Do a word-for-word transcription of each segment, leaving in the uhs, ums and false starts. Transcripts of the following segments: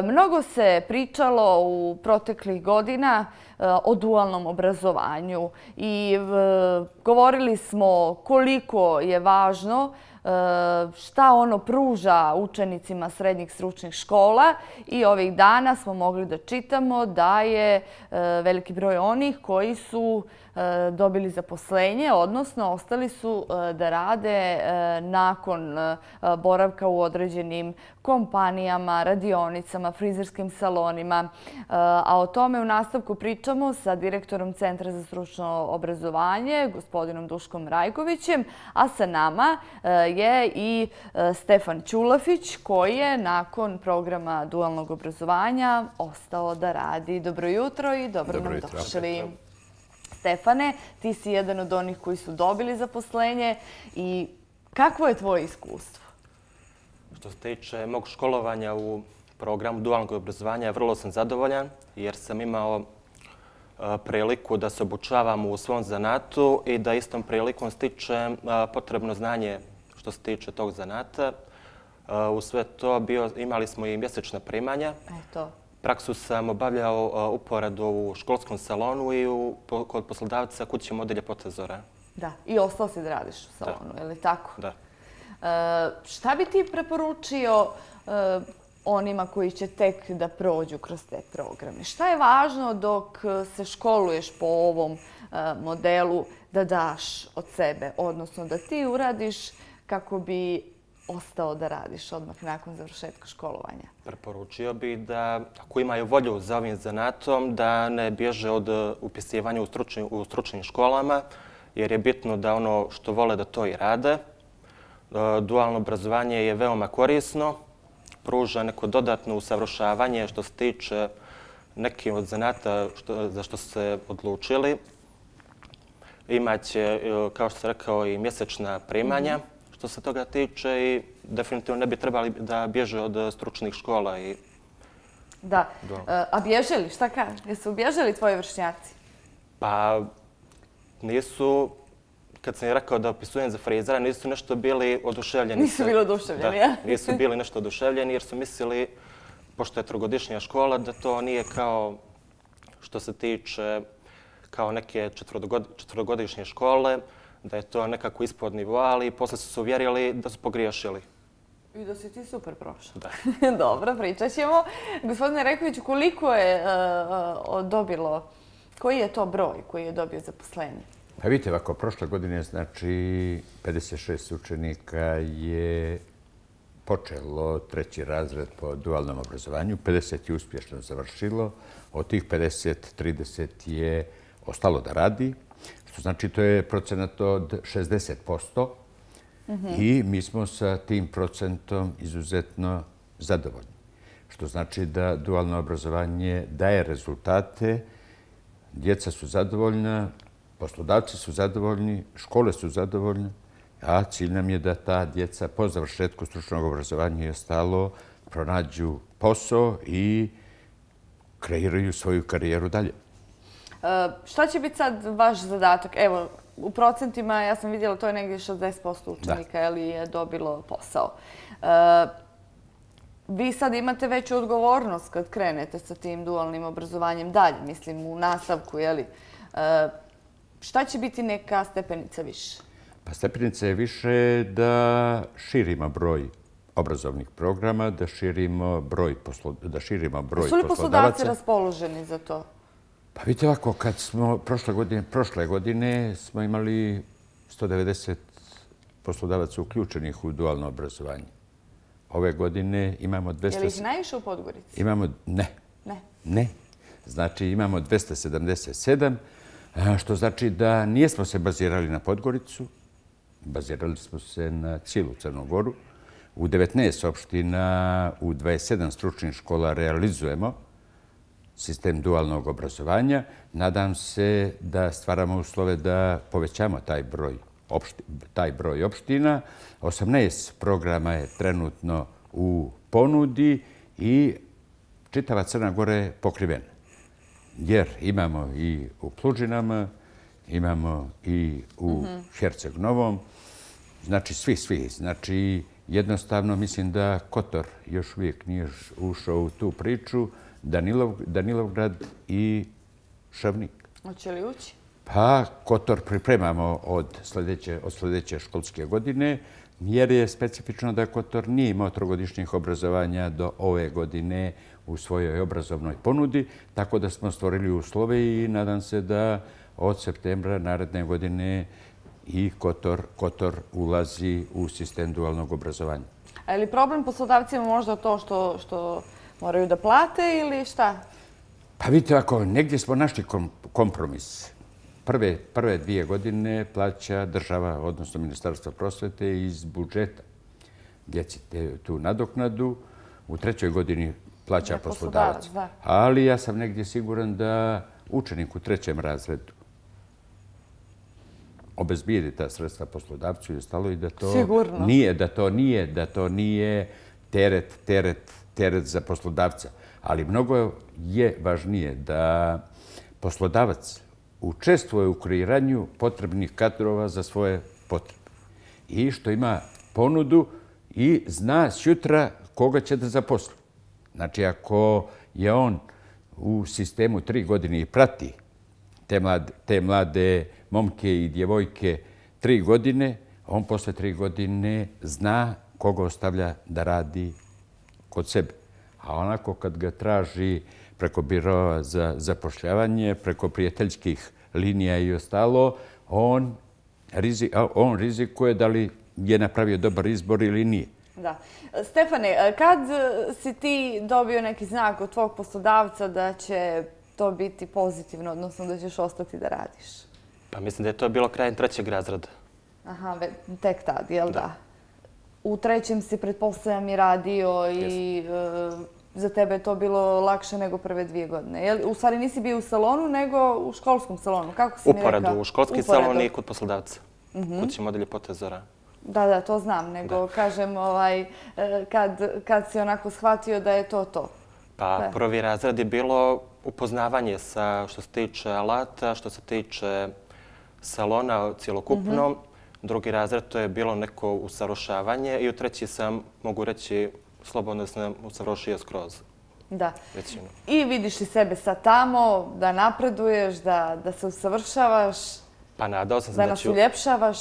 Mnogo se pričalo u proteklih godina o dualnom obrazovanju i govorili smo koliko je važno šta ono pruža učenicima srednjih stručnih škola i ovih dana smo mogli da čitamo da je veliki broj onih koji su dobili zaposlenje, odnosno ostali su da rade nakon boravka u određenim kompanijama, radionicama, frizerskim salonima. A o tome u nastavku pričamo sa direktorom Centra za stručno obrazovanje, gospodinom Duškom Rajkovićem, a sa nama je i Stefan Ćulafić, koji je nakon programa dualnog obrazovanja ostao da radi. Dobro jutro i dobro nam došli. Stefane, ti si jedan od onih koji su dobili zaposlenje i kakvo je tvoje iskustvo? Što se tiče mog školovanja u programu dualnog obrazovanja, vrlo sam zadovoljan jer sam imao priliku da se obučavam u svom zanatu i da istom prilikom stičem potrebno znanje što se tiče tog zanata. U sve to imali smo i mjesečna primanja. Eto. Praksu sam obavljao uporadu u školskom salonu i kod poslodavca kuće mode Ljepota Zora. Da, i ostao si da radiš u salonu, je li tako? Da. Šta bi ti preporučio onima koji će tek da prođu kroz te programe? Šta je važno dok se školuješ po ovom modelu da daš od sebe, odnosno da ti uradiš kako bi ostao da radiš odmah nakon završetka školovanja? Preporučio bih da, ako imaju volju za ovim zanatom, da ne bježe od upisivanja u stručnim školama, jer je bitno da ono što vole da to i rade. Dualno obrazovanje je veoma korisno, pruža neko dodatno usavršavanje što se tiče nekih od zanata za što su se odlučili. Imaće, kao što sam rekao, i mjesečna primanja što se toga tiče i definitivno ne bi trebali da bježe od stručnih škola. Da. A bježe li? Šta kaže? Jesu bježeli tvoji vršnjaci? Pa nisu. Kad sam je rekao da opisujem za frizera, nisu nešto bili oduševljeni. Nisu bili oduševljeni, ja? Nisu bili nešto oduševljeni jer su mislili, pošto je trogodišnja škola, da to nije kao što se tiče kao neke četvrogodišnje škole, da je to nekako ispod nivoa, ali posle su se uvjerili da su pogriješili. I da si ti super prošao. Da. Dobro, pričat ćemo. Gospodine Rajkoviću, koliko je dobilo, koji je to broj koji je dobio zaposlenje? Pa vidite, ovako, prošle godine, znači, pedeset šest učenika je počelo treći razred po dualnom obrazovanju, pedeset je uspješno završilo, od tih pedeset, trideset je ostalo da radi, što znači to je procenat od šezdeset posto i mi smo sa tim procentom izuzetno zadovoljni. Što znači da dualno obrazovanje daje rezultate, djeca su zadovoljna, poslodavci su zadovoljni, škole su zadovoljne, a cilj nam je da ta djeca po završetku stručnog obrazovanja i ostalo pronađu posao i kreiraju svoju karijeru dalje. Šta će biti sad vaš zadatak? Evo, u procentima ja sam vidjela to je negdje šezdeset posto učenika je dobilo posao. Vi sad imate veću odgovornost kad krenete sa tim dualnim obrazovanjem dalje, mislim u nastavku, je li? Šta će biti neka stepenica više? Pa stepenica je više da širimo broj obrazovnih programa, da širimo broj poslodavaca. Su li poslodavci raspoloženi za to? Pa vidite ovako, kad smo prošle godine, prošle godine smo imali sto devedeset poslodavaca uključenih u dualno obrazovanje. Ove godine imamo dvesta... Je li ih najviše u Podgorici? Imamo... Ne. Ne? Ne. Znači imamo dvesta sedamdeset sedam, što znači da nijesmo se bazirali na Podgoricu, bazirali smo se na cijelu Crnu Goru. U devetnaest opština, u dvadeset sedam stručnih škola realizujemo sistem dualnog obrazovanja. Nadam se da stvaramo uslove da povećamo taj broj, taj broj opština. osamnaest programa je trenutno u ponudi i čitava Crna Gora je pokrivena. Jer imamo i u Plužinama, imamo i u Herceg Novom, znači svi, svi. Znači jednostavno mislim da Kotor još uvijek nije ušao u tu priču, Danilov, Danilovgrad i Šavnik. Hoće li ući? Pa Kotor pripremamo od sljedeće, od sljedeće školske godine, jer je specifično da Kotor nije imao trogodišnjih obrazovanja do ove godine u svojoj obrazovnoj ponudi, tako da smo stvorili uslove i nadam se da od septembra naredne godine i Kotor, Kotor ulazi u sistem dualnog obrazovanja. A je li problem poslodavcima možda to što, što moraju da plate ili šta? Pa vidite, ako negdje smo našli kom, kompromis. Prve, prve dvije godine plaća država, odnosno Ministarstvo prosvete iz budžeta djeci tu nadoknadu. U trećoj godini plaća Ne, poslodavac. poslodavac, da. Ali ja sam negdje siguran da učenik u trećem razredu obezbijedi ta sredstva poslodavcu i ostalo i da to Sigurno. nije, da to nije, da to nije teret, teret, teret za poslodavca. Ali mnogo je važnije da poslodavac učestvuje u kreiranju potrebnih kadrova za svoje potrebe. I što ima ponudu i zna sutra koga će da zaposli. Znači, ako je on u sistemu tri godine i prati te mlade, te mlade momke i djevojke tri godine, on posle tri godine zna koga ostavlja da radi kod sebe. A onako kad ga traži preko biroa za zapošljavanje, preko prijateljskih linija i ostalo, on, rizik, on rizikuje da li je napravio dobar izbor ili nije. Da. Stefane, kad si ti dobio neki znak od tvog poslodavca da će to biti pozitivno, odnosno da ćeš ostati da radiš? Pa mislim da je to bilo krajem trećeg razreda. Aha, tek tad, jel da? U trećem si, pretpostavljam, i radio i e, za tebe je to bilo lakše nego prve dvije godine. Jel, u stvari nisi bio u salonu, nego u školskom salonu. Kako si mi rekao? Uporedu, u školski salon i kod poslodavca. Mm-hmm. Kući modelje Pote Zora. Da, da, to znam, nego da. kažem ovaj, kad, kad si onako shvatio da je to to. Pa da. Prvi razred je bilo upoznavanje sa što se tiče alata, što se tiče salona cjelokupno. Mm-hmm. Drugi razred to je bilo neko usavršavanje i u treći sam, mogu reći, slobodno sam usavršio skroz. Da. Većinu. I vidiš li sebe sad tamo, da napreduješ, da, da se usavršavaš, pa nadao sam se da, da nas ću... uljepšavaš?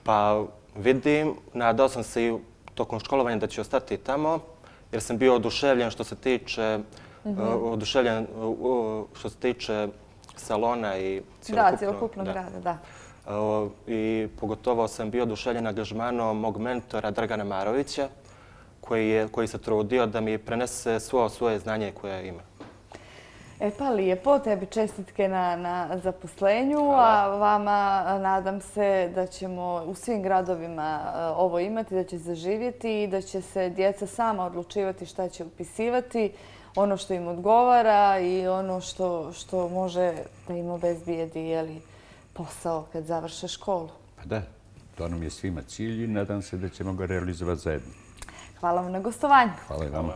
Pa vidim, nadao sam se i tokom školovanja da ću ostati tamo, jer sam bio oduševljen što se tiče, mm-hmm. uh, oduševljen uh, što se tiče salona i cjelokupno. Da, cjelokupnog grada, da. Uh, I pogotovo sam bio oduševljen angažmanom mog mentora Dragana Marovića, koji, je, koji se trudio da mi prenese svo svoje znanje koje ima. E pa lijepo, tebi čestitke na, na zaposlenju, Hvala. A vama nadam se da ćemo u svim gradovima ovo imati, da će zaživjeti i da će se djeca sama odlučivati šta će upisivati, ono što im odgovara i ono što, što može da im obezbijedi, jeli, posao kad završe školu. Pa da, to nam je svima cilj i nadam se da ćemo ga realizovati zajedno. Hvala vam na gostovanju. Hvala i vama.